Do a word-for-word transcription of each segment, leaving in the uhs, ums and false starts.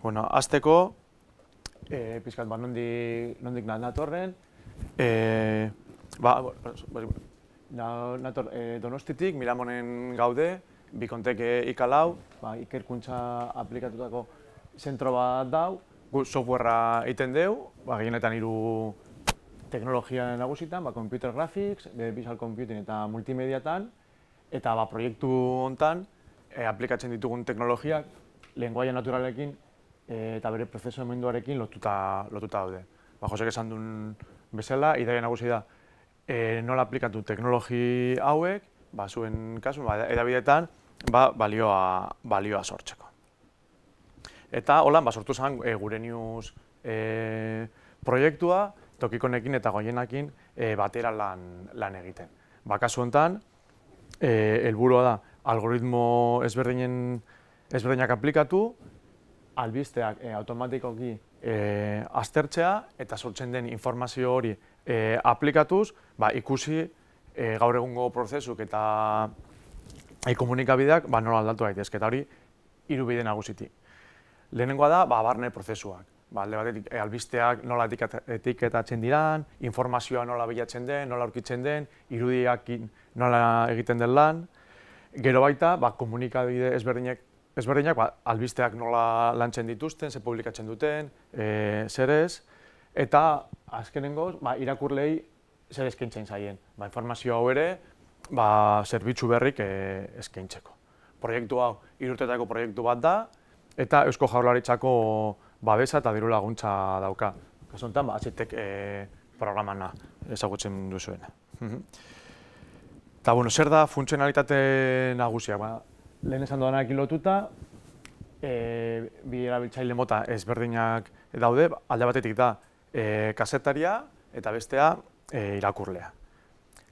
Bueno, azteko, e, pizkat, ba, nondik, nondik natorren, e, ba, na, nator, e, Donostitik, Miramonen gaude, bikontek e, ikalau, ba, ikerkuntza aplikatutako zentro bat dau, gu softwarea egiten deu, ba, gehienetan hiru teknologia nagusitan, ba, computer graphics, visual computing eta multimediatan, eta ba, proiektu hontan e, aplikatzen ditugun teknologiak lenguaia naturalekin e, eta bere prozesamenduarekin lotuta, lotuta daude. Ba, Josek esan duen bezala, ideia nagusi da e, nola aplikatu teknologi hauek, ba, zuen kasu, ba, edabideetan, ba, balioa, balioa sortzeko. Eta holan, ba, sortu zen e, gure news e, proiektua, tokikonekin eta goienakin e, batera lan, lan egiten. Ba, kasu honetan, e, helburua da algoritmo ezberdinen ezberdinak aplikatu, albisteak e, automatikoki e, aztertzea eta sortzen den informazio hori e, aplikatuz, ba, ikusi e, gaur egungo prozesuk eta e, komunikabideak ba, nola aldatu daitezke, eta hori hiru bide nagusiti. Lehenengoa da, ba, barne prozesuak. Ba, alde batetik, e, albisteak nola etiketatzen diran, informazioa nola bilatzen den, nola aurkitzen den, irudiak nola egiten den lan. Gero baita, ba, komunikabide ezberdinak, ezberdinak ba, albisteak nola lantzen dituzten, ze publikatzen duten, e, zer ez, eta azkenengoz, ba, irakurlei zer eskaintzen zaien. Ba, informazio hau ere, ba, zerbitzu berrik e, eskaintzeko. Proiektu hau, hiru urtetako proiektu bat da, eta Eusko Jaurlaritzako babesa eta diru laguntza dauka. Kasu honetan, ba, Hazitek e, programana ezagutzen duzuena. Eta, bueno, zer da funtzionalitate nagusiak? Ba, lehen esan dodanekin lotuta, e, bi erabiltzaile mota ezberdinak daude, alde batetik da e, kazetaria eta bestea e, irakurlea.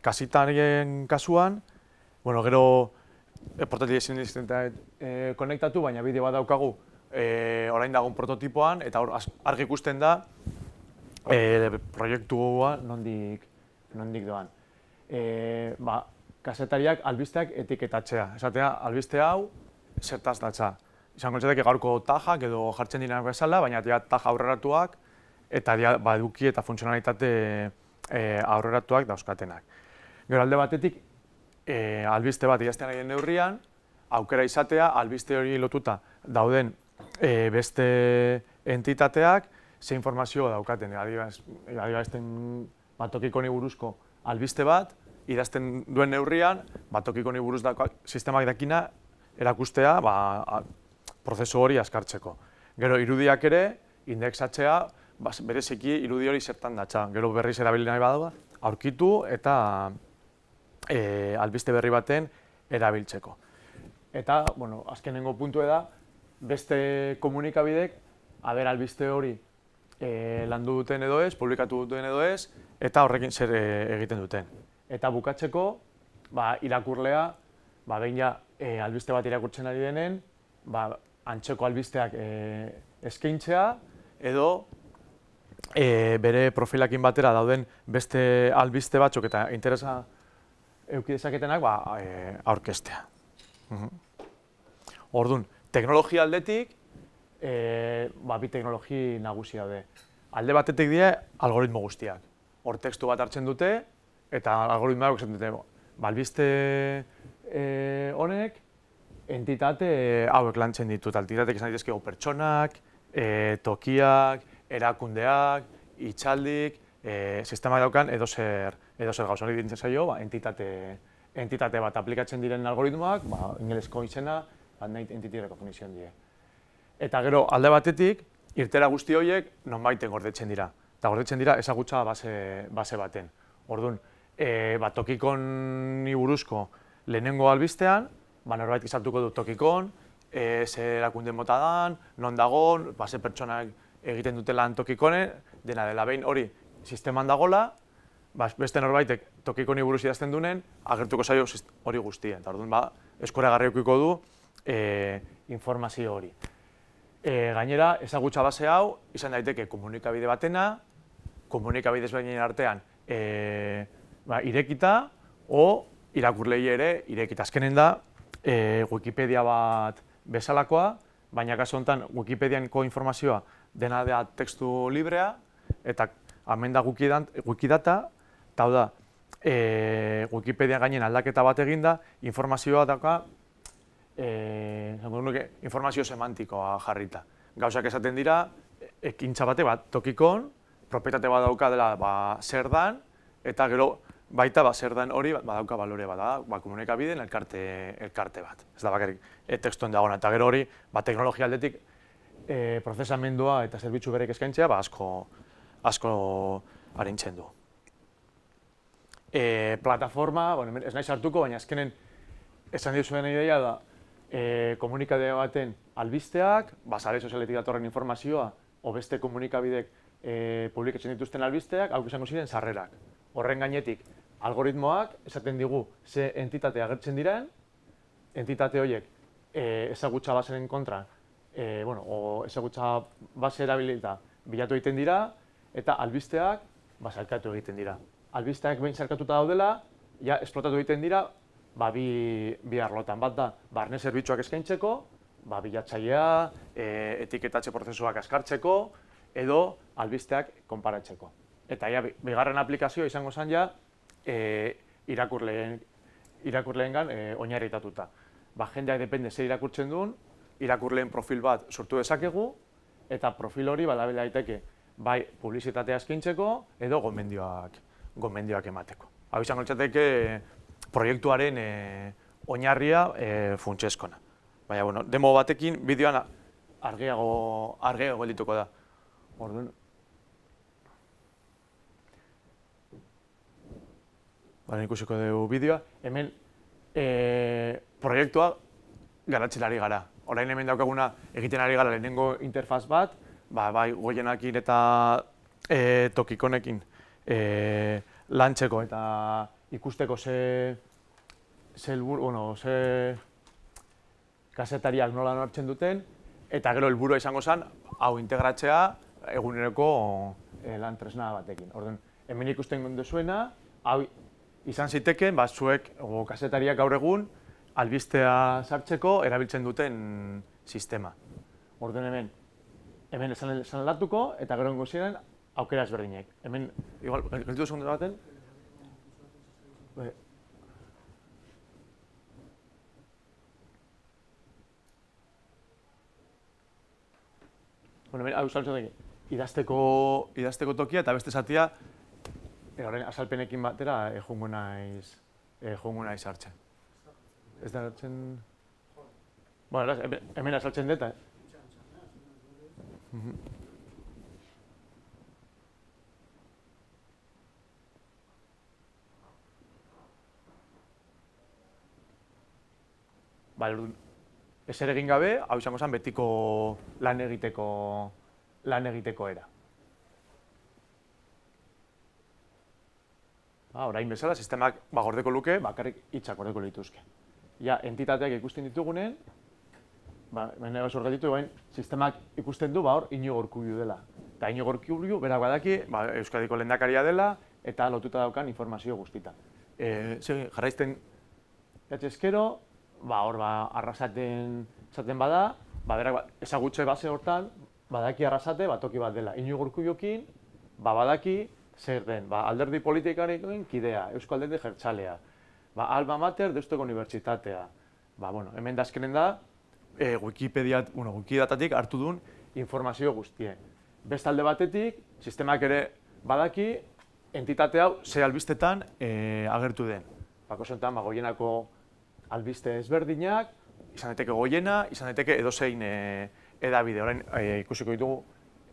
Kazetarien kasuan, bueno, gero e, portatil ezin dizidentea e, konektatu, baina bideo bat daukagu e, orain dagoen prototipoan, eta hor argi ikusten da e, proiektua nondik, nondik doan. E, ba, kazetariak albisteak etiketatzea. Esatea, albiste hau zertaz datza. Izango litzateke gaurko tajak edo jartzen direnak bezala, baina ja taja aurreratuak eta ja, ba, eduki eta funtzionalitate e, aurreratuak dauzkatenak. Gero alde batetik, e, albiste bat idazten ari den neurrian, aukera izatea, albiste hori lotuta dauden e, beste entitateak ze informazio daukaten. Adibidezten bat tokiko buruzko albiste bat, idazten duen neurrian, bat tokiko buruz sistemak dakina erakustea ba, prozesu hori azkartzeko. Gero irudiak ere, indexatzea, ba, bereziki irudi hori zertan datza. Gero berriz erabili nahi badago, aurkitu eta e, albiste berri baten erabiltzeko. Eta, bueno, azkenengo puntu da, beste komunikabidek, aber albiste hori e, landu duten edo ez, publikatu duten edo ez, eta horrekin zer e, egiten duten. Eta bukatzeko, ba, irakurlea, ba, behin ja e, albiste bat irakurtzen ari denen, ba, antzeko albisteak e, eskaintzea, edo e, bere profilakin batera dauden beste albiste batzuk eta interesa eduki dezaketenak ba, e, aurkeztea. Orduan, teknologia aldetik, e, ba, bi teknologi nagusi daude. Alde batetik die algoritmo guztiak. Hor tekstu bat hartzen dute, eta algoritmoak esaten dute, ba, albiste e, honek entitate e, hauek lantzen ditut. Entitateak izan daitezke pertsonak, e, tokiak, erakundeak, itxaldik, e, sistemak daukan edozer, edozer gauza hori dintzen zaio, ba, entitate, entitate bat aplikatzen diren algoritmoak, ba, ingelezko izena, entity recognition die. Eta gero, alde batetik, irtera guzti horiek nonbaiten gordetzen dira. Eta gordetzen dira ezagutza base, base baten. Orduan, e, ba, tokikon buruzko lehenengo albistean, ba, norbait izartuko du tokikon, e, ze erakunde mota dan, non dagon, ba, ze pertsonak egiten dute lan tokikone, dena dela behin hori sisteman dagola, ba, beste norbaitek tokikoni buruz idazten dunen, agertuko zaio hori guztien. Eta orduan, ba, eskuragarri edukiko du e, informazio hori. E, gainera, ezagutza base hau, izan daiteke komunikabide batena, komunikabide ezberdinen artean e, ba, irekita, o irakurlei ere irekita. Azkenen da, e, Wikipedia bat bezalakoa, baina kasu honetan Wikipediako informazioa dena da testu librea, eta hemen da Wikidata, eta hau da, e, Wikipedia gainen aldaketa bat eginda, informazioa dauka, e, informazio semantikoa jarrita. Gauzak esaten dira, ekintza bate bat tokikon, propietate bat dauka dela ba, zer dan, eta gero baita ba, zer dan hori badauka balore bat da, ba, komunikabideen elkarte, elkarte bat. Ez da bakarrik e, tekstuen dagoena, eta gero hori ba, teknologia aldetik e, prozesamendua eta zerbitzu berek eskaintzea ba, asko, asko arintzen du. E, plataforma, bueno, ez nahi sartuko, baina azkenen esan dizuen ideia da e, komunikabide baten albisteak, ba, sare sozialetik datorren informazioa, o beste komunikabidek e, publikatzen dituzten albisteak, hau izango ziren sarrerak. Horren gainetik, algoritmoak esaten digu ze entitate agertzen diren, entitate horiek e, ezagutza baseren kontra, e, bueno, o ezagutza base erabilita bilatu egiten dira, eta albisteak ba, salkatu egiten dira. Albisteak behin salkatuta daudela, ja esplotatu egiten dira, ba, bi, bi arlotan. Bat da, barne zerbitzuak eskaintzeko, ba, bilatzailea, e, etiketatze prozesuak askartzeko, edo albisteak konparatzeko. Eta ja, bigarren aplikazioa izango zen ja, e, irakurleen, irakurleengan e, oinarritatuta. Ba, jendeak depende zer irakurtzen duen, irakurleen profil bat sortu dezakegu, eta profil hori badabila daiteke bai publizitatea eskaintzeko edo gomendioak, gomendioak emateko. Hau izango litzateke proiektuaren e, oinarria e, funtsezkoena. Baina, bueno, demo batekin bideoan argiago, argiago geldituko da. Orduan, Bale, ikusiko dugu bideoa. Hemen e, proiektua garatzen ari gara. Orain hemen daukaguna egiten ari gara lehenengo interfaz bat, ba, bai goienakin eta e, tokikonekin e, lantzeko eta ikusteko ze, ze helburu, bueno, ze kazetariak nola hartzen duten, eta gero helburua izango zen, hau integratzea eguneroko e, lan tresna batekin. Orduan, hemen ikusten duzuena, hau izan zitekeen, ba, zuek o, kazetariak gaur egun albistea sartzeko erabiltzen duten sistema. Orduan hemen, hemen esan, esan aldatuko eta gero ingo ziren aukera ezberdinek. Hemen, igual, gelditu segundu baten? Bueno, hemen, hau saltzen dut, idazteko, idazteko tokia eta beste zatia, horren azalpenekin batera jungo naiz, jungo naiz hartzen. Ez da hartzen... Bueno, hemen azaltzen dut, eh? Bale, ezer egin gabe, hau izango zen betiko lan egiteko, lan egiteko era. Ba, orain bezala, sistemak ba, gordeko luke, bakarrik hitzak gordeko lituzke. Ja, entitateak ikusten ditugunen, ba, hemen egoz orgatitu, bain, sistemak ikusten du, ba, hor, Iñigo Urkullu dela. Eta Iñigo Urkullu, berak badaki, ba, Euskadiko lehendakaria dela, eta lotuta daukan informazio guztita. E, Segi, jarraizten jatxezkero, ba, hor, ba, arrasaten zaten bada, ba, berak, ba, ezagutze base hortan, badaki arrasate, ba, toki bat dela. Iñigo Urkullukin, ba, badaki, zer den, ba, alderdi politikarekin kidea, Eusko Alderdi Jeltzalea, ba, alma mater Deustuko Unibertsitatea. Ba, bueno, hemen da azkenen da, e, Wikipedia, bueno, Wikidatatik hartu duen informazio guztie. Beste alde batetik, sistemak ere badaki, entitate hau ze albistetan e, agertu den. Bako zentan, ba, goienako albiste ezberdinak, izan daiteke goiena, izan daiteke edozein e, edabide. Orain e, ikusiko ditugu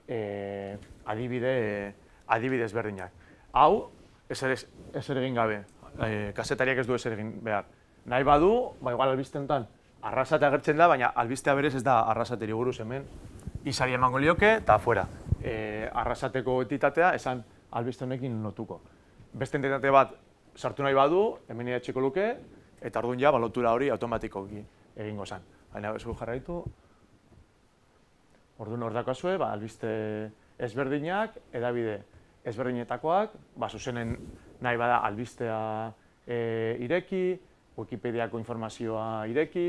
e, adibide, e, adibide ezberdinak. Hau, ezer, ezer egin gabe, e, kazetariak ez du ezer egin behar. Nahi badu, ba, igual albiste honetan arrasate agertzen da, baina albistea berez ez da arrasateri buruz hemen. Izari emango lioke eta fuera. E, arrasateko entitatea esan albiste honekin lotuko. Beste entitate bat sartu nahi badu, hemen idatxiko luke, eta orduan ja, lotura hori automatikoki egingo zen. Baina, ez jarraitu. Orduan hor dakazue, ba, albiste ezberdinak, edabide ezberdinetakoak, ba, zuzenen nahi bada albistea e, ireki, Wikipediako informazioa ireki.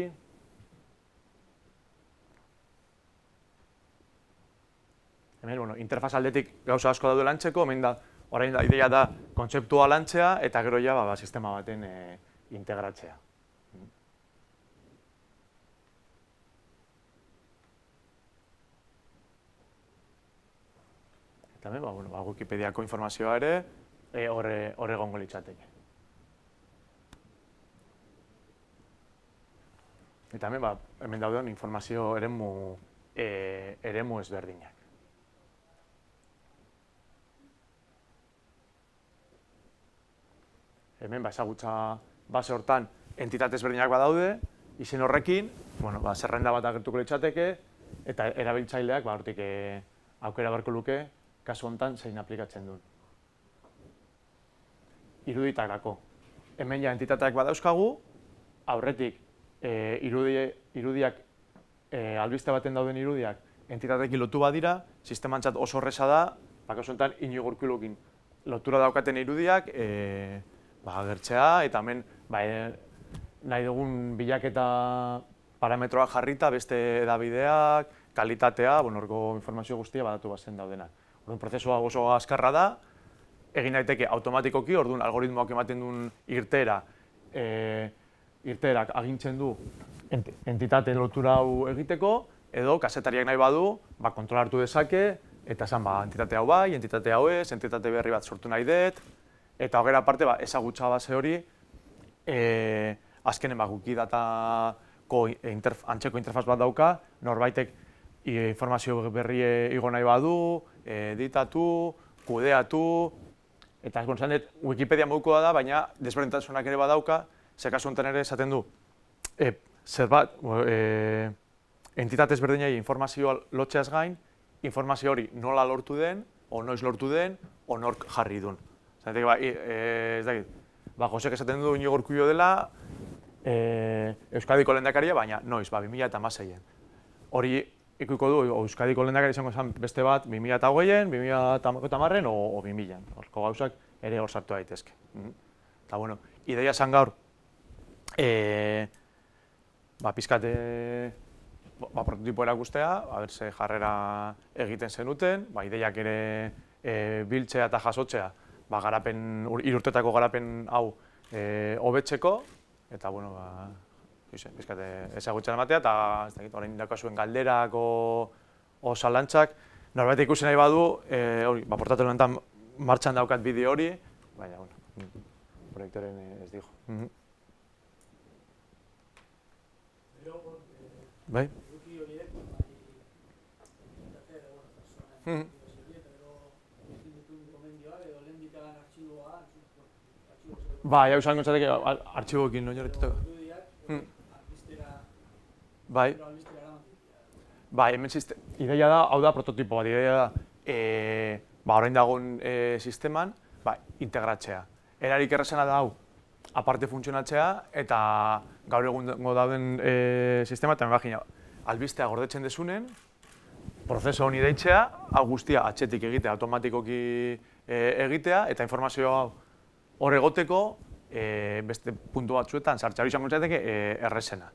hemen, bueno, interfaz aldetik gauza asko daude lantzeko, hemen da, orain da, ideia da kontzeptua lantzea, eta gero ja, ba, sistema baten e, integratzea. Eta hemen, ba, bueno, ba, Wikipediako informazioa ere, e, horre, horre gongo litzateke. Eta hemen, ba, hemen dauden informazio eremu, e, eremu ezberdinak. Hemen, ba, ezagutza base hortan entitate ezberdinak badaude, izen horrekin, bueno, ba, zerrenda bat agertuko litzateke, eta erabiltzaileak, ba, hortik e, aukera barko luke, kasu honetan zein aplikatzen duen. Irudietarako. Hemen ja entitateak badauzkagu, aurretik e, irudi, irudiak, e, albiste baten dauden irudiak, entitateekin lotu badira, sistemantzat oso horreza da, ba, kasu honetan Inigo Urkullurekin lotura daukaten irudiak, e, ba, agertzea, eta hemen ba, e, nahi dugun bilaketa parametroak jarrita, beste edabideak, kalitatea, bueno, horko informazio guztia badatu bazen daudenak. Orduan, prozesua oso azkarra da, egin daiteke automatikoki, orduan algoritmoak ematen duen irteera, e, irteerak agintzen du ent, entitate lotura hau egiteko, edo kazetariak nahi badu, ba, kontrola hartu dezake, eta esan, ba, entitate hau bai, entitate hau ez, entitate berri bat sortu nahi dut, eta hogera aparte, ba, ezagutza base hori, e, azkenen, ba, Wikidatako interf, antzeko interfaz bat dauka, norbaitek informazio berri igo nahi badu, editatu, kudeatu, eta ez zan dut, Wikipedia modukoa da, baina desberdintasunak ere badauka, ze kasu honetan ere esaten du, e, zer bat, e, entitate ezberdinei informazioa lotzeaz gain, informazio hori nola lortu den, o noiz lortu den, o nork jarri duen. Zanetik, ba, e, ez dakit, ba, Josek esaten du Inigo Urkullu dela, e, Euskadiko lehendakaria, baina noiz, ba, bi mila hamaseian. Hori, ikuiko du, Euskadiko lehendakari izango zen beste bat, bi mila hogeian, bi mila hamarren, o, o bi milan. Horko gauzak ere hor sartu daitezke. Eta, bueno, ideia zan gaur, e, ba, pizkat, e, ba, prototipo erakustea, a ber, ze jarrera egiten zenuten, ba, ideiak ere e, biltzea eta jasotzea, ba, garapen, irurtetako garapen hau e, hobetzeko, eta, bueno, ba, pizkat, ezagutzen ematea, eta ez dakit, orain daukazuen galderak o zalantzak, norbait ikusi nahi badu, hori, ba, portatu honetan martxan daukat bideo hori, baina, bueno, proiektoren ez digo. Bai? Bai, hau zango zateke artxiboekin, no jarretutako. Bai, bai, hemen ideia da, hau da prototipo bat, ideia da, e, ba, orain dagoen e, sisteman, ba, integratzea. Erarik errazena da hau, aparte funtzionatzea, eta gaur egungo dauden e, sistema, eta imagina, albistea gordetzen desunen, prozeso honi deitzea, hau guztia atxetik egitea, automatikoki e, egitea, eta informazio hau hor egoteko, e, beste puntu batzuetan, sartxari izango zateke e, errezena.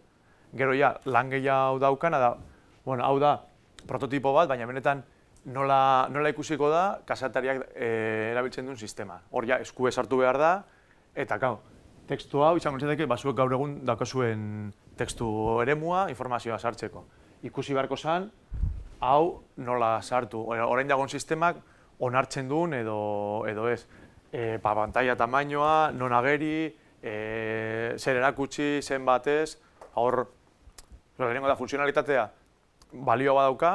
Gero ja, lan gehiago daukana da, bueno, hau da prototipo bat, baina benetan nola, nola ikusiko da kazetariak e, erabiltzen duen sistema. Hor ja, eskue sartu behar da, eta gau, tekstu hau izango zateke, basuek gaur egun daukazuen tekstu eremua informazioa sartzeko. Ikusi beharko zen, hau nola sartu, orain dagoen sistemak onartzen duen edo, edo ez. E, pa, pantalla tamainoa, non ageri, e, zer erakutsi, zen batez, hor, lehenengo da funtzionalitatea balioa badauka,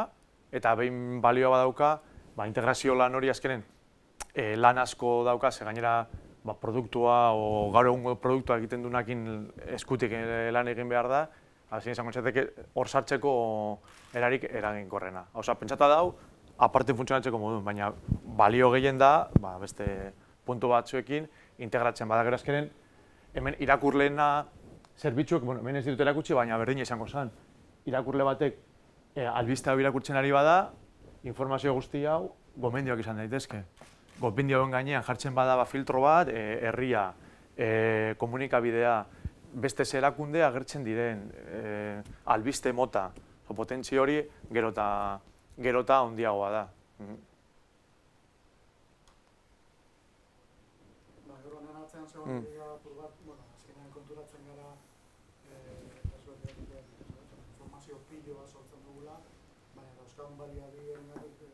eta behin balioa badauka, ba, integrazio lan hori azkenen e, lan asko dauka, ze gainera ba, produktua o gaur egungo produktua egiten duenakin eskutik lan egin behar da, hazin izango txateke hor sartzeko erarik eraginkorrena. Osa, pentsata dau, aparte funtzionatzeko modun, baina balio gehien da, ba, beste puntu batzuekin integratzen bada gero azkenen, hemen irakurleena zerbitzuek, bueno, hemen ez ditut erakutsi, baina berdina izango zen. Irakurle batek e, albiste hau irakurtzen ari bada, informazio guzti hau gomendioak izan daitezke. Gomendioen gainean jartzen bada ba, filtro bat, e, herria, e, komunikabidea, beste zerakunde agertzen diren, e, albiste mota, potentzio hori gerota, gerota handiagoa da. Gero honen atzean zegoen apur bat, azkenean konturatzen gara informazio piloa sortzen dugula, baina dauzkagun baliabideen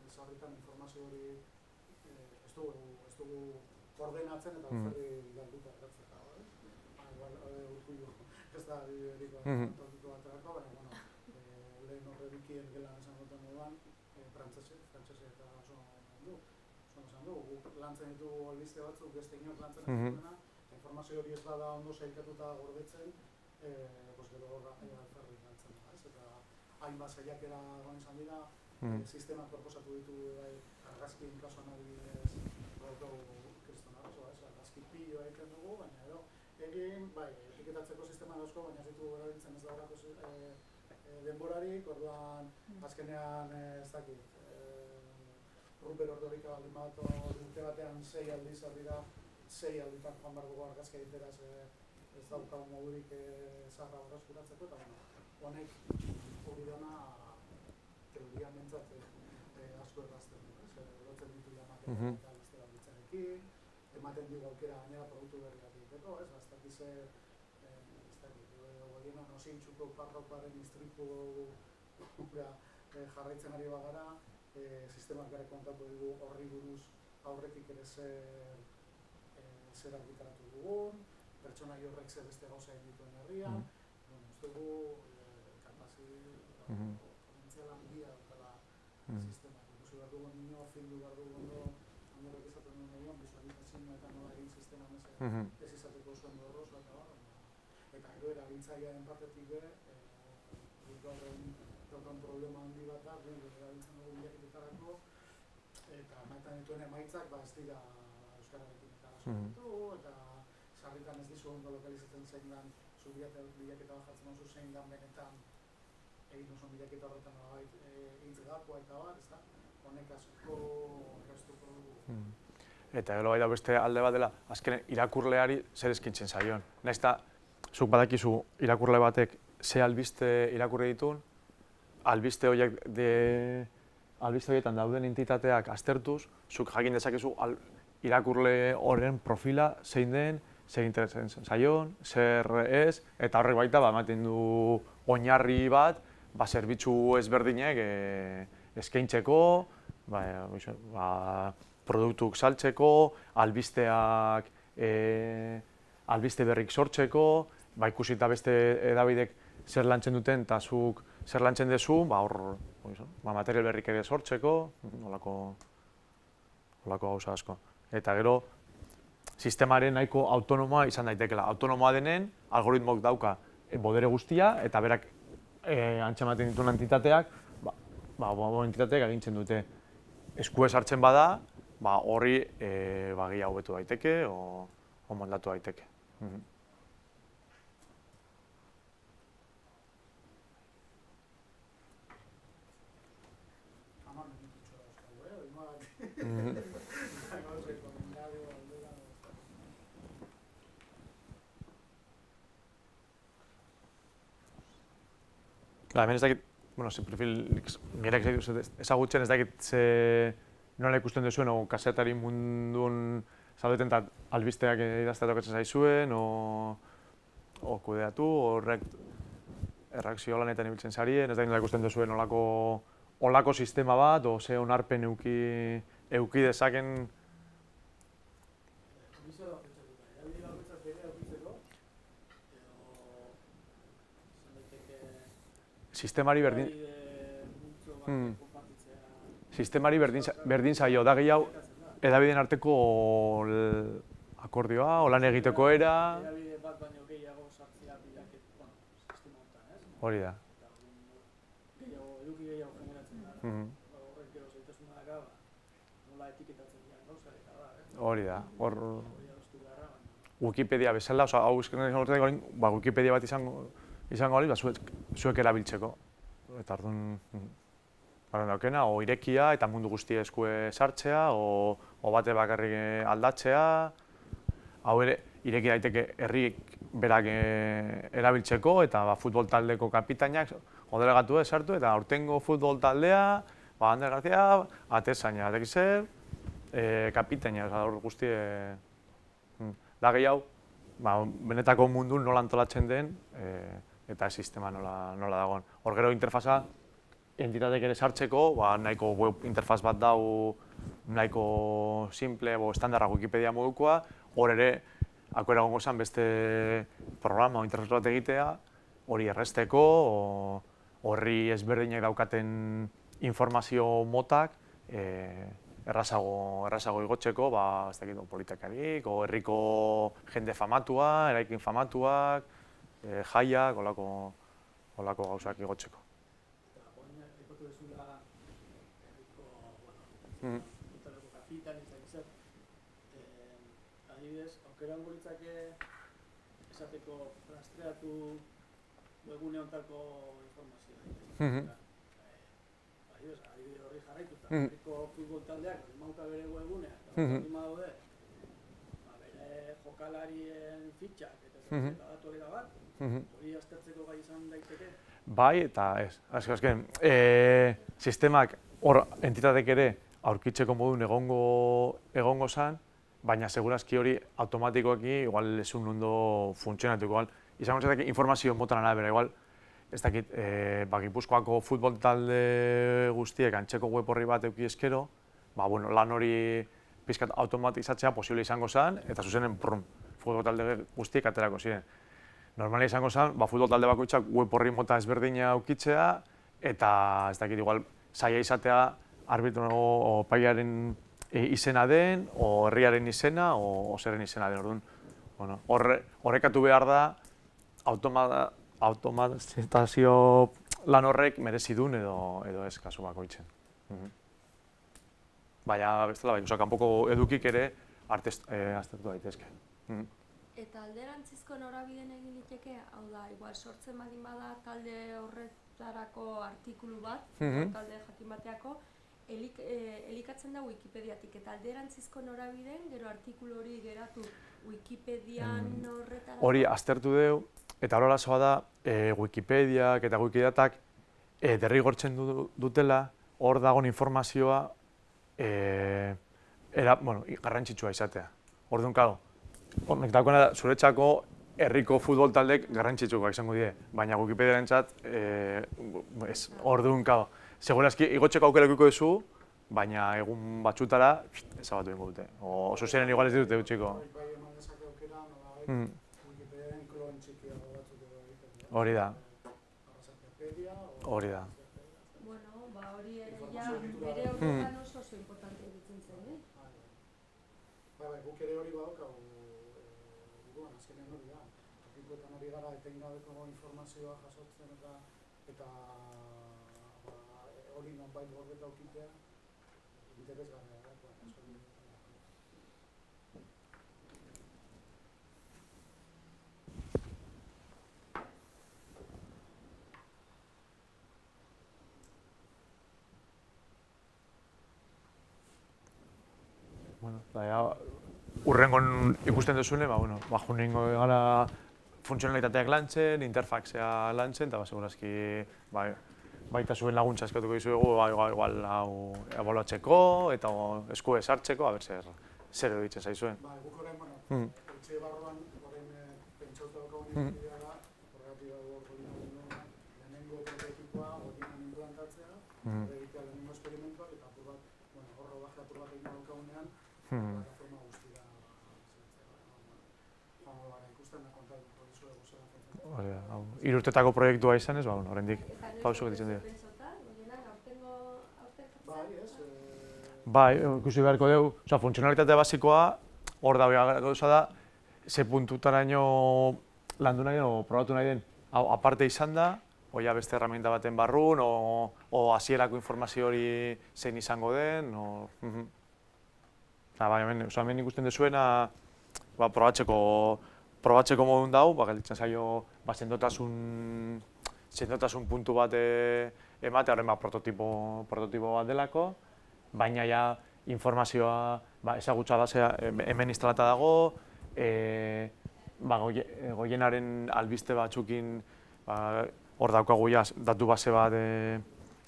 sarritan informazio hori ez dugu ordenatzen eta alferri galduta eratzen dago. Urkullu ez da biderik kontatutu baterako, baina lehen horre dikien gelan esan duten moduan, frantzese eta oso du. Guk lantzen ditugu albiste batzuk, beste inok lantzen dituena, informazio hori ez bada ondo sailkatuta gordetzen, gero horra alferri lantzen da, eta hainbat saiakera egon izan dira, sistemak proposatu ditu argazkien kasuan adibidez, kristona oso, argazki piloa egiten dugu, baina edo, egin, bai, etiketatzeko sistema dauzko, baina ez ditugu erabiltzen ez dagoelako denborarik, orduan azkenean ez dakit, Ruper Ordorika baldin bat, urte batean sei aldiz dira, sei alditan joan behar dugu argazki egiteraz ez daukagun modurik zaharra horra eskuratzeko, eta honek hori dena teorian mentzat asko errazten du. Erotzen ditu material eta albiste bat ditzarekin, ematen digu aukera gainera produktu berriak egiteko, ez dakiz ez dakit, godiena nosintxuko parroparen istripu jarraitzen ari bagara, sistemak gara kontatu dugu horri buruz aurretik ere zer argitaratu dugun, pertsonai horrek zer beste gauza egin dituen herrian, uste dugu kapazi potentzial handia dutela sistemak. Ikusi behar dugu nino, findu behar dugu ondo, handorrek esaten duen dugu, visualizazioa eta nola egin sisteman ez izateko zuen dorroz, eta gero erabiltzailearen partetik be, daukan problema handi bat da, erabiltzen dugu bilaketetarako, eta maitan dituen emaitzak ez dira euskararekin eta sortu, eta sarritan ez dizu ondo lokalizatzen zein dan, zu bilaketa bat jartzen duzu zein dan benetan egin duzun bilaketa horretan hitz gakoa eta bat, ez da, honek asko erraztuko dugu. Eta gero bai da beste alde bat dela, azken irakurleari zer eskintzen zaion. Nahiz eta, zuk badakizu irakurle batek ze albiste irakurri ditun, albiste horiek albiste horietan dauden entitateak aztertuz, zuk jakin dezakezu irakurle horren profila zein den, zer interesatzen zaion, zer ez, eta horrek baita ematen du oinarri bat, zerbitzu ezberdinek eskaintzeko, produktuk saltzeko, albisteak, albiste berrik sortzeko, ikusita beste edabidek zer lantzen duten eta zuk zer lantzen dezu, hor material berrik ere sortzeko, holako gauza asko. Eta gero, sistemaren nahiko autonomoa izan daitekela. Autonomoa denen, algoritmok dauka bodere guztia, eta berak antzematen dituen entitateak, entitateak agintzen dute esku ez hartzen bada, horri gehiago hobetu daiteke, o moldatu daiteke. Hemen ez dakit, profil nirek ezagutzen ez dakit nola ikusten duzuen, o kasetari mundun zaudeten eta albisteak idaztea tokatzen zaizuen, o kudeatu, horrek erreakzio lanetan ibiltzen zarien, ez dakit nola ikusten duzuen olako sistema bat, o ze onarpen euki dezaken. Sistemari berdin... Sistemari berdin zaio, da gehiago edabideen arteko akordioa, o lan egiteko era... Edabide bat baino gehiago sartzea bilaketa sistema honetan, ez? Hori da. Gehiago, eduki gehiago generatzen da. Horrek gero zaitasuna daka, nola etiketatzen dira gauza eta da, ez? Hori da, hor... Wikipedia bezala, oza, hau izkenean horretak hori, Wikipedia bat izango hori, zuek erabiltzeko. Eta orduan, daukena, o irekia eta mundu guztia eskue sartzea, o bate bakarrik aldatzea. Hau ere, ireki daiteke herriek berak erabiltzeko, eta futbol taldeko kapitainak odelegatu sartu, eta aurtengo futbol taldea, ba, Ander García, atezaina, atek zer, e, kapitaina, oza, hor guztie, da gehiago, ba, benetako mundu nola antolatzen den, e, eta sistema nola, nola dagoen. Hor gero interfaza, entitatek ere sartzeko, ba, nahiko web interfaz bat dau, nahiko simple, bo, estandarra Wikipedia modukoa, hor ere, akuera gongo zen beste programa o interfaz bat egitea, hori erresteko, horri ezberdinak daukaten informazio motak, e, errazago, errazago igotzeko, ba, ez dakit, politikarik, o herriko jende famatua, eraikin famatuak, e, jaiak, olako, olako gauzak igotzeko. Eta, oin, ikotu dezula, herriko, bueno, interreko kapitan, izan zer, adibidez, aukera hongo litzake esateko rastreatu webgune hontako informazioa. Adibide horri jarraituta, herriko futbol taldeak, hori mauka bere webgunea, eta hori daude, bere jokalarien fitxak, eta datu hori da bat, hori aztertzeko gai izan daiteke? Bai, eta ez. Azken, azken, sistemak hor entitatek ere aurkitzeko modun egongo egongo zan, baina segurazki hori automatikoaki igual ezun ondo funtzionatuko, igual izango zatek informazio motan arabera, igual ez dakit, e, ba, Gipuzkoako futbol talde guztiek antzeko web horri bat eduki eskero, ba, bueno, lan hori pizkat automatizatzea posible izango zen, eta zuzenen brum, futbol talde guztiek aterako ziren. Normalia izango zen, ba, futbol talde bakoitzak web horri mota ezberdina aukitzea, eta ez dakit, igual, zaila izatea arbitro o paiaren izena den, o herriaren izena, o, o zeren izena den, orduan. Bueno, horre, horrekatu behar da, automa, automatizazio lan horrek merezi duen edo, edo ez kasu bakoitzen. Mm-hmm. Baina, bestela, bai, oza, kanpoko edukik ere aztertu daitezke. Mm-hmm. Eta alderantzizko norabideen egin liteke, hau da, igual sortzen badin bada talde horretarako artikulu bat, mm-hmm. talde jakin bateako, elik, eh, elikatzen da Wikipediatik, eta alderantzizko norabideen, gero artikulu hori geratu Wikipedian mm. horretarako? Hori aztertu deu, eta horrela zoa da, e, Wikipediak eta Wikidataak e, derrigortzen du, dutela, hor dagoen informazioa e, era, bueno, garrantzitsua izatea. Orduan, claro, honek dagoena zuretzako herriko futbol taldek garrantzitsuak izango die, baina Wikipediarentzat e, ez, orduan, claro, segurazki igotzeko aukera edukiko duzu, baina egun batzutara ezabatu egingo dute. O, oso zeren igual ez dute utxiko. Hori da. Hori da. Bueno, ba hori ere ja bere horretan oso oso importante ditzen zen, eh? Bai, bai, guk ere hori badaukagu, buruan, azkenean hori da. Artikuluetan hori gara etengabeko informazioa jasotzen eta eta hori nonbait gordeta ukitea, interesgarria da. Bueno, da, urrengon ikusten duzune, ba, bueno, ba, juningo gara funtzionalitateak lantzen, interfaxea lantzen, eta ba, segurazki ba, baita zuen laguntza eskatuko dizuegu, ba, igual, igual hau ebaluatzeko eta esku esartzeko, aber zer, zer eruditzen zaizuen. Ba, guk horrein, bueno, mm. etxe barruan horrein pentsauta daukagun ikidea da, horregatik dago hori lehenengo prototipua hori implantatzea, mm. egitea lehenengo esperimentuak, eta apur bat, bueno, horro baje apur bat egin daukagunean, plataforma guztira joango gara ikusten da kontatu prozesu egozera funtzen. Hori da, hau, irurtetako proiektua izan ez, ba, bueno, horrendik pauso getitzen dira. Bai, ez? Bai, ikusi beharko dugu, oza, funtzionalitate basikoa, hor da, gauza da, ze puntutaraino landu nahi den, o probatu nahi den, hau, aparte izan da, oia beste herramienta baten barrun, o, o hasierako informazio hori zein izango den, o... Uh-huh. Ah, bai, hemen, oza, hemen ikusten dezuena, ba, probatzeko, probatzeko modun dau, ba, gelditzen zaio, ba, sendotasun, sendotasun puntu bat emate, horren, ba, prototipo, prototipo bat delako, baina ja informazioa ba, ezagutza da, zera, hemen instalata dago, e, ba, goie, goienaren albiste batzukin ba, hor daukagu ja datu base bat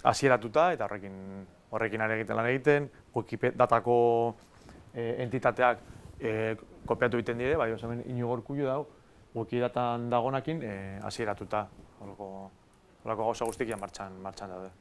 hasieratuta, eta horrekin horrekin ari egiten lan egiten, Wikidatako entitateak kopiatu egiten dire, bai, hemen Inigo Urkullu dago, Wikidatan dagonakin hasieratuta, horreko gauza guztiak martxan daude.